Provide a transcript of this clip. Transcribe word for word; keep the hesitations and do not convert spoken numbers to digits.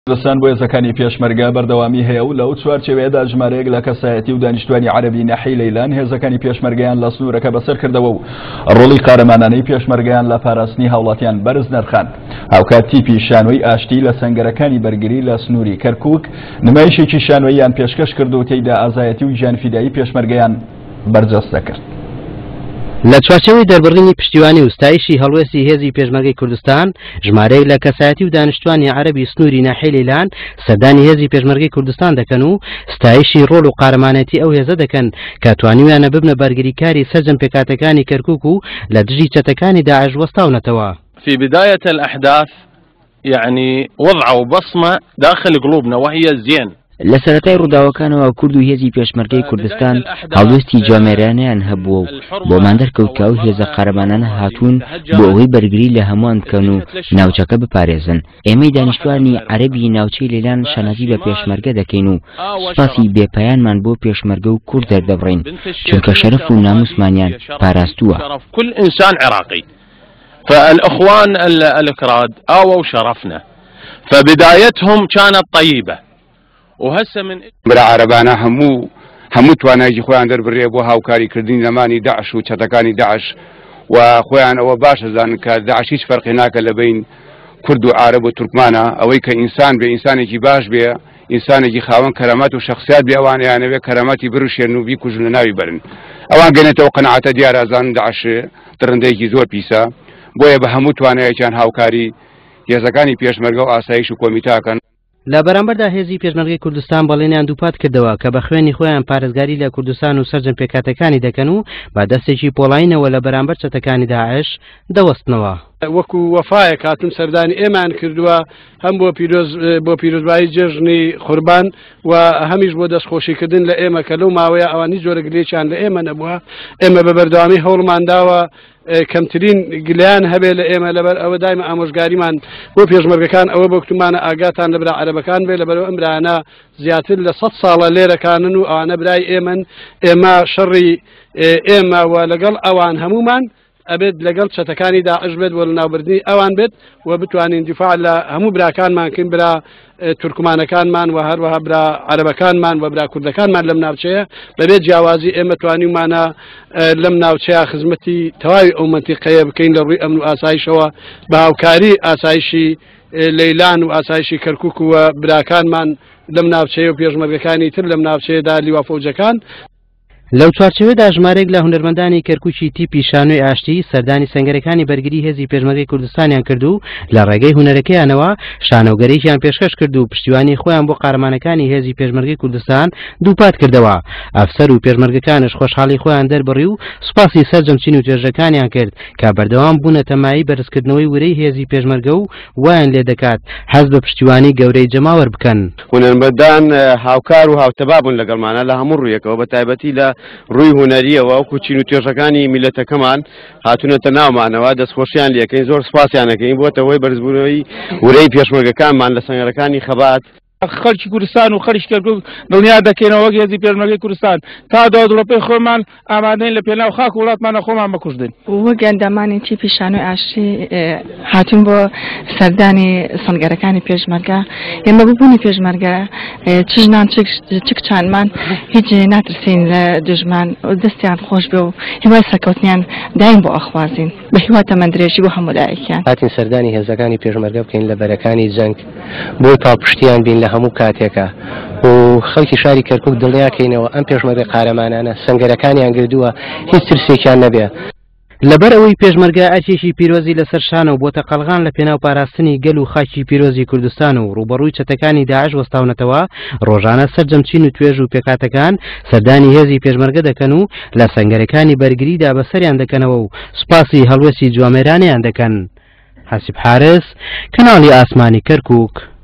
کوردستان بۆ هێزەکانی پێشمەرگە بەردەوامی هەیە و لەو چوارچێوەیەدا ژمارەیەک لە کەسایەتی و دانیشتوانی عەرەبی ناحیەی لەیلان هێزەکانی پێشمەرگەیان لە سنوورەکە بەسەر کردەوە و ڕۆڵی قارەمانانەی پێشمەرگەیان لە پاراستنی هاوڵاتیان بەرز نرخاند. هاوکات تیپی شانۆی ئاشتی لە سەنگەرەکانی بەرگری لە سنووری کەرکووک نمایشێکی شانۆییان پێشکەش کرد و تێیدا ئازایەتی و گیانفیدایی پێشمەرگەیان بەرجەستە کرد. لە چوارچێوەی دەربڕینی پشتیوانی و ستایشی هەڵوێستی هێزی پێشمەرگەی کوردستان، ژمارەیەک لە کەسایەتی و دانیشتوانی عەرەبی سنووری ناحیەی لەیلان سەردانی هێزی پێشمەرگەی کوردستان دەکەن و ستایشی ڕۆڵ و قارەمانێتی ئەو هێزە دەکەن کە توانیویانە ببنە بەرگریکاری سەرجەم پێکهاتەکانی کەرکووک و لە دژی چەتەکانی داعش وەستاونەتەوە. في بداية الأحداث يعني وضعوا بصمة داخل قلوبنا وهي الزين. لە سەرەتای ڕووداوەکانەوە کورد و هێزی پێشمەرگەی کوردستان هەڵوێستی جوامێرانەیان هەبووە و بۆمان دەرکەوت کە ئەو هێزە قارەمانانە هاتوون بۆ ئەوەی بەرگری لە هەمووان بکەن و ناوچەکە بپارێزن. ئێمەی دانیشتوانی عەرەبی ناوچەی لەیلان شانازی بە پێشمەرگە دەکەین و سوپاسی بێپایانمان بۆ پێشمەرگە و کورد دەردەبڕین، چونکە شەرەف و ناموسمانیان پاراستووە. كل إنسان عراقي فالأخوان الأكراد آووا شرفنا فبدايتهم كانت طيبة. وهسه من برا عەرەبانە هەموو هەموو توانایکی خۆیان دەربڕێ بۆ هاوکاریکردنی نەمانی داعش و چەتەکانی داعش و خۆیان ئەوە باش ئەزانن کە داعش هیچ فەرقی ناکە لە بین کورد و عەرەب و تورکمانە. ئەوەی کە ئینسان بێ، ئینسانێکی باش بێ، ئینسانێکی خاوەن کەرامەت و شخصیات بێ، ئەوان ئەیانەوێ کەرامەتی بڕشێن و بیکوژن لە ناوی بەرن. ئەوان گەنێتەوە قەناعەتە دیارە ئەزانن داعش دڕندەیەکی زۆر پیسە، بۆیە بە هەموو توانایەکیان هاوکاری هێزەکانی پێشمەرگە و ئاسایش و کۆمیتاکەن. لە بەرامبەردا هێزی پێشمەرگەی کوردستان بەڵێنیان دووپات کردەوە کە بە خوێنی خۆیان پارێزگاری لە کوردستان و سەرجەم پێکهاتەکانی دەکەن و بە دەستێکی پۆڵاینەوە لە بەرامبەر چەتەکانی داعش دەوەستنەوە. وەکو وەفایەک هاتون سەردانی ئێمان کردووە، هەم بۆ پیرۆز بۆ پیرۆزبایی جێژنی قوربان و هەمیش بۆ دەستخۆشیکردن لە ئێمە کە لەو ماوەیە ئەوان هیچ جۆرە گلەیەکیان لە ئێمە نەبووە. ئێمە بە بەردەوامی هەوڵمان داوە کەمترین گلیان هەبێ لە ئێمە، لەبەر ئەوە دایمە ئامۆژگاریمان بۆ پێشمەرگەکان ئەوە بۆ کوتمانە ئاگاتان لە برا عەرەبەکان بێ، لەبەرەوە ئەم برایانە زیاتر لە سەد ساڵە لێرەکانن و ئەوانە برای ئێمن. ئێمە شەڕی ئێمە و لەگەڵ ئەوان هەمومان ئەبێت لەگەڵ چەتەکانی داعش بێت و لە ناوبردنی ئەوان بێت و بتوانین دیفاع لە هەموو براکانمان کەین، برا تورکمانەکانمان و هەروەها برا عەرەبەکانمان و برا کوردەکانمان لەم ناوچەیە. بەبێت جیاوازی ئێمە توانیومانە لەم ناوچەیە خزمەتی تەواوی ئەو مەنتیقەیە بکەین لە ڕووی ئەمن و ئاسایشەوە بە هاوکاری ئاسایشی لەیلان و ئاسایشی کەرکووک و براکانمان لەم ناوچەیە و پێشمەرگەکانی تر لەم ناوچەیەدا لیوا فەوجەکان. لەو چوارچێوەدا ژمارەیەک لە هونەرمەندانی کەرکووکی تیپی شانۆی ئاشتی سەردانی سەنگەرەکانی بەرگری هێزی پێشمەرگەی کوردستانیان کرد و لە ڕێگەی هونەرەکەیانەوە شانۆگەرییان پێشکەش کرد و پشتیوانی خۆیان بۆ قارەمانەکانی هێزی پێشمەرگەی کوردستان دووپات کردەوە. ئەفسەر و پێشمەرگەکانش خۆشحاڵی خۆیان دەربڕی و سوپاسی سەرجەم چین و توێژەکانیان کرد کە بەردەوام بوونەتە مایەی بەرزکردنەوەی ورەی هێزی پێشمەرگە و وایان لێ دەکات هەست بە پشتیوانی گەورەی جەماوەر بکەن. هونەرمەندان هاوکار و هاوتەبا بوون لەگەڵمانە لە هەموو ڕوویەکەوە، بە تایبەتی لە ڕووی هونەریەوە وەکو چین و توێژەکانی میلەتەکەمان هاتوونەتە ناومانەوە، دەستخۆشیان لێکەین، زۆر سوپاسیانەکەین بۆتە هۆی بەرزبوونەوەی ورەی پێشمەرگەکانمان لە سەنگەرەکانی خەبات. خەڵکی کوردستان و خەڵکی کەرکووک دڵنیا دەکەینەوە وەک هێزی پێشمەرگەی کوردستان تا دوا دڵۆپەی خۆمان ئامادەین لە پێناو خاک و وڵاتمانە خۆمان بکوژدن. وەک ئەندامانی تیپی شانۆی ئاشتی هاتوون بۆ سەردانی سەنگەرەکانی پێشمەرگە. ئێمە ببوونی پێشمەرگە چ ژنان چ کچانمان هیچ ناترسین لە دژمان، دەستیان خۆش بێ و هیوای سەرکەوتنیان دایم بۆ ئەخوازین بە هیوا تەمەندرێژی بۆ هەموو لایەکیان. هاتین سەردانی هێزەکانی پێشمەرگە بکەین لە بەرەکانی جەنگ بۆ پاڵپشتیان بین لە هەموو کاتێکە و خەڵکی شاری کەرکووک دڵنیاکەینەوە ئەم پێشمەرگە قارەمانانە سەنگەرەکانیان گردووە هیچ ترسێکیان نەبێ. لەبەر ئەوەی پێشمەرگە ئەرکێکی پیرۆزی لەسەر شانە و بۆتە قەڵغان لە پێناو پاراستنی گەل و خاکی پیرۆزی کوردستان و ڕووبەڕووی چەتەکانی داعش وەستاونەتەوە، ڕۆژانە سەرجەم چین و توێژ و پێکهاتەکان سەردانی هێزی پێشمەرگە دەکەن و لە سەنگەرەکانی بەرگریدا بەسەریان دەکەنەوە و سوپاسی هەڵوێستی جوامێرانیان دەکەن. حەسیب حارس، کەناڵی ئاسمانی کەرکووک.